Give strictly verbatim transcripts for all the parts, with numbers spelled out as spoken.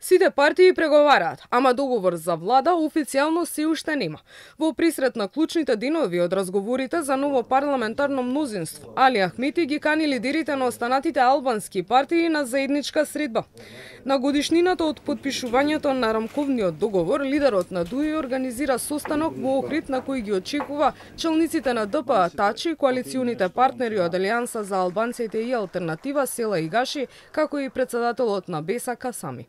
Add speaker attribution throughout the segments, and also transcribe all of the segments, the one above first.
Speaker 1: Сите партии преговараат, ама договор за влада официјално се уште нема. Во присрет на клучните денови од разговорите за ново парламентарно мнозинство, Али Ахмети ги кани лидерите на останатите албански партии на заедничка средба. На годишнината од потпишувањето на рамковниот договор, лидерот на ДУИ организира состанок во Охрид на кој ги очекува челниците на ДПА Тачи, коалиционите партнери од Алијанса за албанците и Алтернатива Села Игаши, како и председателот на Беса Касами.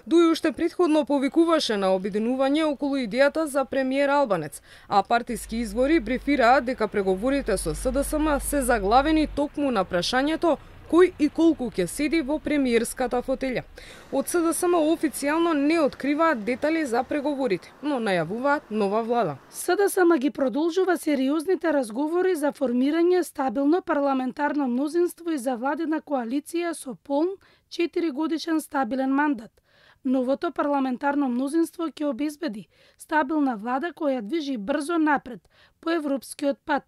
Speaker 1: ДУИ уште претходно повикуваше на обединување околу идејата за премиер албанец, а партиски извори брифираат дека преговорите со СДСМ се заглавени токму на прашањето кој и колку ќе седи во премиерската фотелја. Од СДСМ официјално не откриваат детали за преговорите, но најавуваат нова влада.
Speaker 2: СДСМ ги продолжува сериозните разговори за формирање стабилно парламентарно мнозинство и за владина коалиција со полн четиригодишен стабилен мандат. Новото парламентарно мнозинство ќе обезбеди стабилна влада која движи брзо напред по европскиот пат,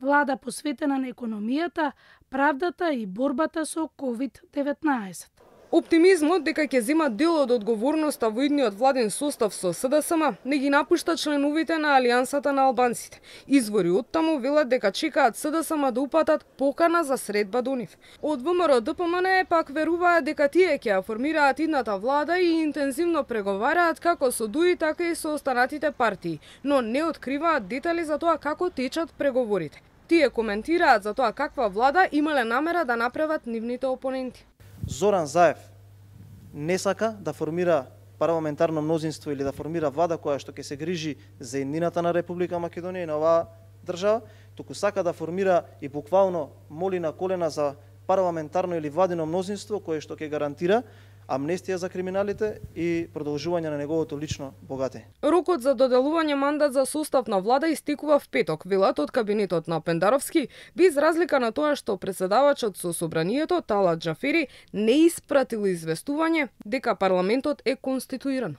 Speaker 2: влада посветена на економијата, правдата и борбата со ковид деветнаесет.
Speaker 1: Оптимизмот дека ќе земат дел од одговорноста во идниот владен состав со СДСМ не ги напушта членовите на Алијансата на албанците. Извори од таму велат дека чекаат СДСМ да упатат покана за средба до нив. Од ВМРО ДПМН пак веруваат дека тие ќе ја формираат идната влада и интензивно преговараат како со ДУИ, така и со останатите партии, но не откриваат детали за тоа како течат преговорите. Тие коментираат за тоа каква влада имале намера да направат нивните опоненти.
Speaker 3: Зоран Заев не сака да формира парламентарно мнозинство или да формира влада која што ќе се грижи за еднината на Република Македонија и на оваа држава, туку сака да формира и буквално моли на колена за парламентарно или владино мнозинство кое што ќе гарантира амнестија за криминалите и продолжување на неговото лично богатење.
Speaker 1: Рокот за доделување мандат за состав на влада истекува в петок, велат од кабинетот на Пендаровски, без разлика на тоа што претседавачот со собранието Талат Џафери не испратил известување дека парламентот е конституиран.